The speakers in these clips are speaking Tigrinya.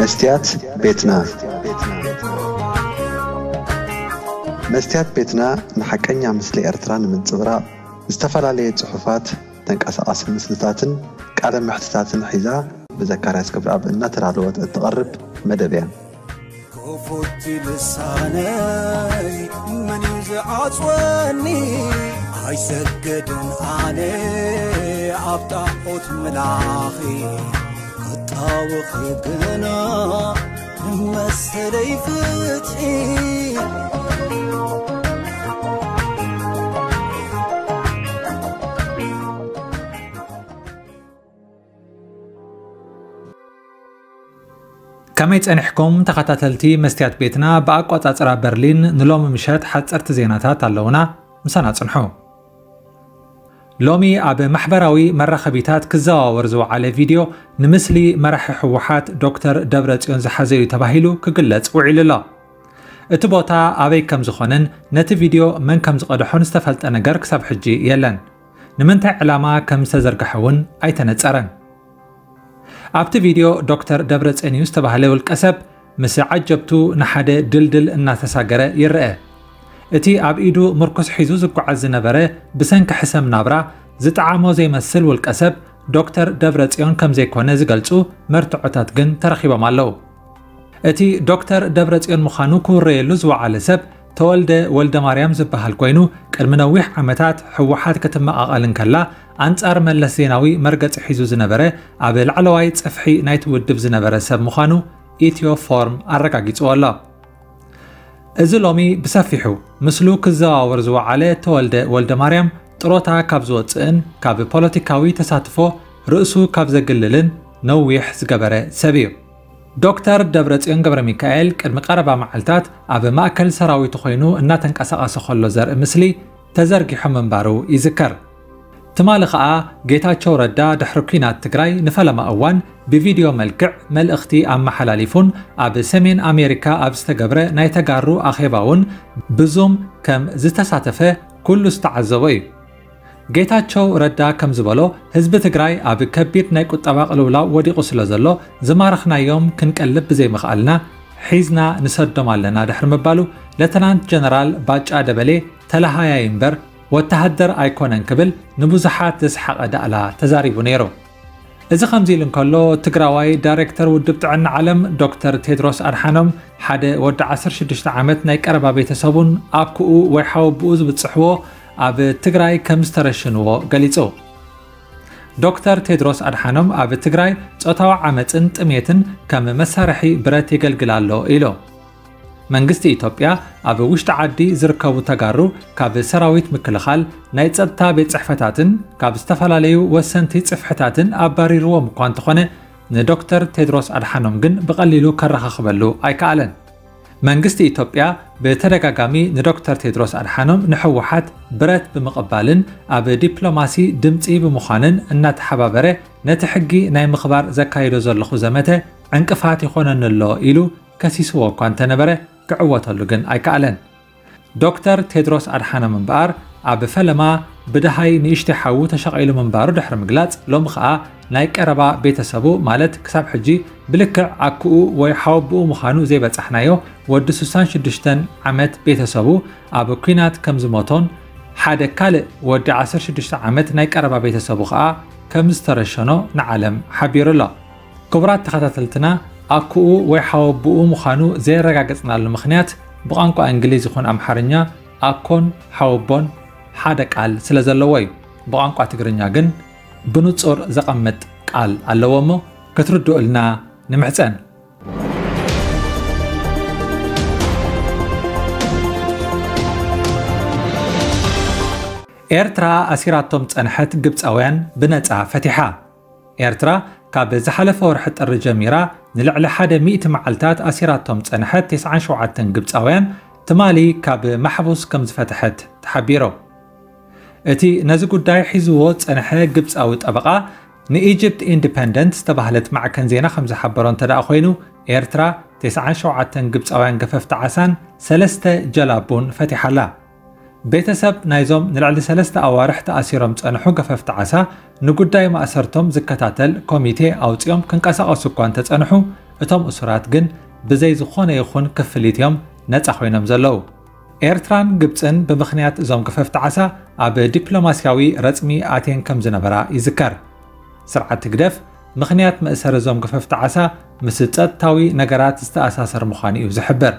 መስትያት ቤትና። መስትያት ቤትና ንሓቀኛ ምስሊ ኤርትራ ንምንጽብራቕ ዝተፈላለየ ጽሑፋት፣ ተንቀሳቓሲ ምስልታትን ቃለ መሕትታትን ሒዛ ብዘካርያስ ክብረኣብ እናተዳለወት እትቐርብ መደብ እያ። ክፉት ልሳነይ መን እዩ ዝዓጽወኒ? ኣይሰግድን ኣነ ኣብ ጣዖት ምላኺ፣ ክጣወኺ ግና ንመሰለይ ፍትሒ። ከመይ ጸኒሕኩም ተኸታተልቲ መስትያት ቤትና? ብኣቋጻጽራ በርሊን ንሎሚ ምሸት ሓጸርቲ ዜናታት ኣለዉና፣ ምሳና ጽንሑ። ሎሚ ኣብ ማሕበራዊ መራኸቢታት ክዘዋወር ዝወዓለ ቪድዮ፣ ንምስሊ መራሒ ህወሓት ዶክተር ደብረጽዮን ዝሓዘ እዩ ተባሂሉ ክግለጽ ውዒሉ ኣሎ። እቲ ቦታ ኣበይ ከም ዝኾነን ነቲ ቪድዮ መን ከም ዝቐድሖን ዝተፈልጠ ነገር ክሳብ ሕጂ የለን። ንምንታይ ዕላማ ከም ዝተዘርግሐ እውን ኣይተነጸረን። ኣብቲ ቪድዮ ዶክተር ደብረጽዮን እዩ ዝተባህለ ውልቀ ሰብ ምስ ዓጀብቱ ንሓደ ድልድል እናተሳገረ ይረአ። እቲ ኣብ ኢዱ ምርኩስ ሒዙ ዝጓዓዝ ዝነበረ ብሰንኪ ሕሰም ናብራ ዝጠዓሞ ዘይመስል ውልቀ ሰብ ዶክተር ደብረጽዮን ከም ዘይኮነ ዝገልጹ መርትዖታት ግን ተረኺቦም ኣለዉ። እቲ ዶክተር ደብረጽዮን ምዃኑ ክውረየሉ ዝወዓለ ሰብ ተወልደ ወልደ ማርያም ዝበሃል ኮይኑ፣ ቅድሚ ነዊሕ ዓመታት ህወሓት ክትመቓቐል እንከላ ኣንጻር መለስ ዜናዊ መርገጺ ሒዙ ዝነበረ፣ ኣብ ላዕለዋይ ጽፍሒ ናይቲ ውድብ ዝነበረ ሰብ ምዃኑ ኢትዮ ፎርም ኣረጋጊጽዎ ኣሎ። እዚ ሎሚ ብሰፊሑ ምስሉ ክዘዋወር ዝወዓለ ተወልደ ወልደ ማርያም ጥሮታ ካብ ዝወጽእን ካብ ፖለቲካዊ ተሳትፎ ርእሱ ካብ ዘግልልን ነዊሕ ዝገበረ ሰብ እዩ። ዶክተር ደብረጽዮን ገብረ ሚካኤል ቅድሚ ቀረባ መዓልታት ኣብ ማእከል ሰራዊቱ ኮይኑ እናተንቀሳቐሰ ከሎ ዘርኢ ምስሊ ተዘርጊሑ ምንባሩ ይዝከር። ትማሊ ኸኣ ጌታቸው ረዳ ድሕሪ ኲናት ትግራይ ንፈለማ እዋን ብቪድዮ መልክዕ መልእኽቲ ኣመሓላሊፉን ኣብ ሰሜን ኣሜሪካ ኣብ ዝተገብረ ናይ ተጋሩ ኣኼባ እውን ብዙም ከም ዝተሳተፈ ኩሉ ዝተዓዘቦ እዩ። ጌታቸው ረዳ ከም ዝበሎ፣ ህዝቢ ትግራይ ኣብ ከቢድ ናይ ቁጠባ ቅልውላው ወዲቑ ስለ ዘሎ፣ ዝማረኽናዮም ክንቀልብ ብዘይምኽኣልና፣ ሒዝና ንሰዶም ኣለና ድሕሪ ምባሉ፣ ለተናንት ጀነራል ባጫ ደበሌ ተለሃያይ እምበር ወተሃደር ኣይኮነን ክብል ንብዙሓት ዘስሓቐ ዳእላ ተዛሪቡ ነይሩ። እዚ ከምዚ ኢሉ እንከሎ፣ ትግራዋይ ዳይሬክተር ውድብ ጥዕና ዓለም ዶክተር ቴድሮስ ኣድሓኖም፣ ሓደ ወዲ ዓሰርተ ሽዱሽተ ዓመት ናይ ቀረባ ቤተሰቡን ኣኩኡ ወይ ሓወብኡ ዝብጽሕዎ ኣብ ትግራይ ከም ዝተረሽንዎ ገሊጹ። ዶክተር ቴድሮስ ኣድሓኖም ኣብ ትግራይ ጾታዊ ዓመጽን ጥሜትን ከም መሳርሒ ብረት የገልግል ኣሎ ኢሉ። መንግስቲ ኢትዮጵያ ኣብ ውሽጢ ዓዲ ዝርከቡ ተጋሩ ካብ ሰራዊት ምክልኻል፣ ናይ ጸጥታ ቤት ጽሕፈታትን ካብ ዝተፈላለዩ ወሰንቲ ጽፍሕታትን ኣባሪርዎም እኳ እንተኾነ፣ ንዶክተር ቴድሮስ ኣድሓኖም ግን ብቐሊሉ ከረኻኽበሉ ኣይከኣለን። መንግስቲ ኢትዮጵያ ብተደጋጋሚ ንዶክተር ቴድሮስ ኣድሓኖም ንህወሓት ብረት ብምቕባልን ኣብ ዲፕሎማሲ ድምጺ ብምዃንን እናተሓባበረ፣ ነቲ ሕጊ ናይ ምኽባር ዘካይዶ ዘለኹ ዘመተ ዕንቅፋት ይኾነኒ ኣሎ ኢሉ ከሲስዎ እኳ እንተነበረ፣ ክዕወተሉ ግን ኣይከኣለን። ዶክተር ቴድሮስ ኣድሓኖም እምበኣር፣ ኣብ ፈለማ ብደሃይ ንእሽተይ ሓዉ ተሸቒሉ ምንባሩ ድሕሪ ምግላጽ፣ ሎሚ ኸኣ ናይ ቀረባ ቤተሰቡ፣ ማለት ክሳብ ሕጂ ብልክዕ ኣኩኡ ወይ ሓወብኡ ምዃኑ ዘይበጻሕናዮ ወዲ ስሳን ሽዱሽተን ዓመት ቤተሰቡ፣ ኣብ ኲናት ከም ዝሞቶን ሓደ ካልእ ወዲ ዓሰርተ ሽዱሽተ ዓመት ናይ ቀረባ ቤተሰቡ ኸኣ ከም ዝተረሸኖ ንዓለም ሓቢሩ ኣሎ። ክቡራት ተኸታተልትና፣ ኣኩኡ ወይ ሓወብኡ ምዃኑ ዘየረጋገጽናሉ ምኽንያት፣ ብቋንቋ እንግሊዝ ይኹን ኣምሓርኛ ኣኮን ሓወቦን ሓደ ቃል ስለ ዘለዎ እዩ። ብቋንቋ ትግርኛ ግን ብንጹር ዘቐምጥ ቃል ኣለዎ እሞ ክትርድኡልና ንምሕጸን። ኤርትራ ኣሲራቶም ጸንሐት ግብጻውያን ብነጻ ፈቲሓ። ኤርትራ ካብ ዝሓለፈ ወርሒ ጥሪ ጀሚራ ንልዕሊ ሓደ ሚእቲ መዓልታት ኣሲራቶም ጸንሐት ተስዓን ሸውዓተን ግብጻውያን ትማሊ ካብ ማሕቡስ ከም ዝፈትሐት ተሓቢሩ። እቲ ነዚ ጉዳይ ሒዝዎ ጸንሐ ግብጻዊ ጠበቓ ንኢጅፕት ኢንዲፐንደንት ዝተባህለት ማዕከን ዜና ከም ዝሓበሮ እንተ ደኣ ኮይኑ፣ ኤርትራ ተስዓን ሸውዓተን ግብጻውያን ገፈፍቲ ዓሳን ሰለስተ ጀላቡን ፈቲሓ ኣላ። ቤተሰብ ናይዞም ንልዕሊ ሰለስተ ኣዋርሕ ተኣሲሮም ጸንሑ ገፈፍቲ ዓሳ ንጉዳይ ማእሰርቶም ዝከታተል ኮሚቴ ኣውጺኦም ክንቀሳቐሱ እኳ እንተጸንሑ፣ እቶም እሱራት ግን ብዘይ ዝኾነ ይኹን ክፍሊት እዮም ነጻ ኮይኖም ዘለዉ። ኤርትራን ግብጽን ብምኽንያት እዞም ገፈፍቲ ዓሳ ኣብ ዲፕሎማስያዊ ረጽሚ ኣትየን ከም ዝነበራ ይዝከር። ስርዓት ህግደፍ ምኽንያት መእሰሪ እዞም ገፈፍቲ ዓሳ ምስ ጸጥታዊ ነገራት ዝተኣሳሰር ምዃኑ እዩ ዝሕብር።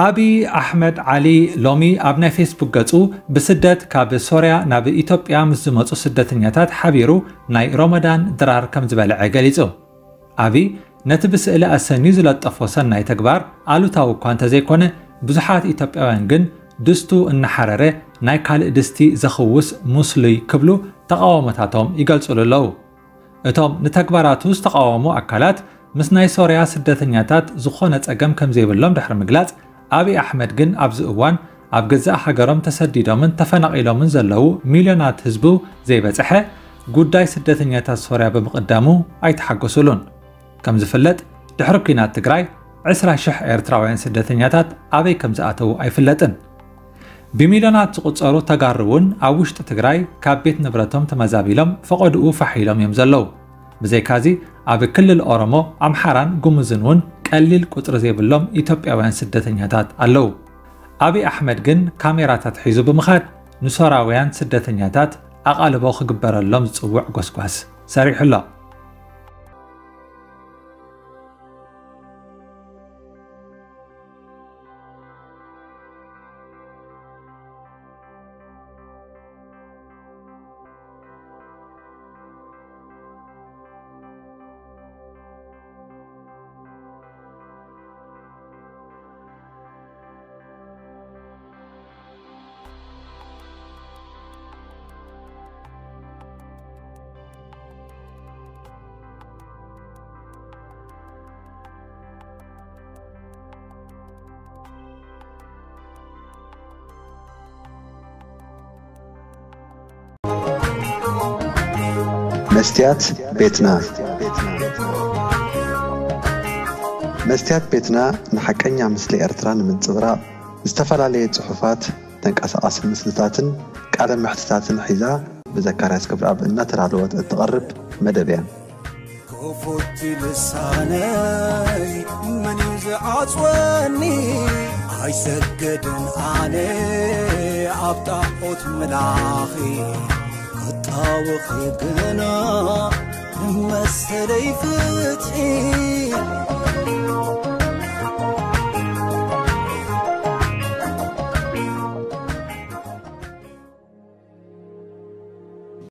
ኣብይ ኣሕመድ ዓሊ ሎሚ ኣብ ናይ ፌስቡክ ገጹ ብስደት ካብ ሶርያ ናብ ኢትዮጵያ ምስ ዝመጹ ስደተኛታት ሓቢሩ ናይ ሮመዳን ድራር ከም ዝበልዐ ገሊጹ። ኣብይ ነቲ ብስእሊ ኣሰንዩ ዝለጠፎ ሰናይ ተግባር ኣሉታዊ እኳ እንተዘይኮነ፣ ብዙሓት ኢትዮጵያውያን ግን ድስቱ እናሓረረ ናይ ካልእ ድስቲ ዘኽውስ ሙስሉይ ክብሉ ተቓውሞታቶም ይገልጹሉ ኣለዉ። እቶም ንተግባራቱ ዝተቓወሙ ኣካላት ምስ ናይ ሶርያ ስደተኛታት ዝኾነ ጸገም ከም ዘይብሎም ድሕሪ ምግላጽ፣ ኣብይ ኣሕመድ ግን ኣብዚ እዋን ኣብ ገዛእ ሃገሮም ተሰዲዶምን ተፈናቒሎምን ዘለዉ ሚልዮናት ህዝቡ ዘይበጽሐ ጉዳይ ስደተኛታት ሶርያ ብምቕዳሙ ኣይተሓጎሱሉን። ከም ዝፍለጥ ድሕሪ ኲናት ትግራይ ዕስራ ሽሕ ኤርትራውያን ስደተኛታት ኣበይ ከም ዝኣተዉ ኣይፍለጥን። ብሚልዮናት ዝቑጸሩ ተጋሩ እውን ኣብ ውሽጢ ትግራይ ካብ ቤት ንብረቶም ተመዛቢሎም ፈቐድኡ ፋሕ ኢሎም እዮም ዘለዉ። ብዘይካዚ ኣብ ክልል ኦሮሞ፣ ኣምሓራን ጉሙዝን እውን ቀሊል ቁጽሪ ዘይብሎም ኢትዮጵያውያን ስደተኛታት ኣለዉ። ኣብይ ኣሕመድ ግን ካሜራታት ሒዙ ብምኻድ ንሶራውያን ስደተኛታት ኣቓልቦ ክግበረሎም ዝጽውዕ ጎስጓስ ሰሪሑ ኣሎ። መስትያት ቤትና። መስትያት ቤትና ንሓቀኛ ምስሊ ኤርትራ ንምንጽብራቕ ዝተፈላለየ ጽሑፋት፣ ተንቀሳቓሲ ምስልታትን ቃለ መሕትታትን ሒዛ ብዘካርያስ ገብረኣብ እናተዳለወት እትቐርብ መደብ እያ። ክፉት ልሳነይ መን እዩ ዝዓጽወኒ? ኣይሰግድን ኣነ ኣብ ጣዖት ምላኺ፣ ክጣወኺ ግና መሰለይ ፍትሒ።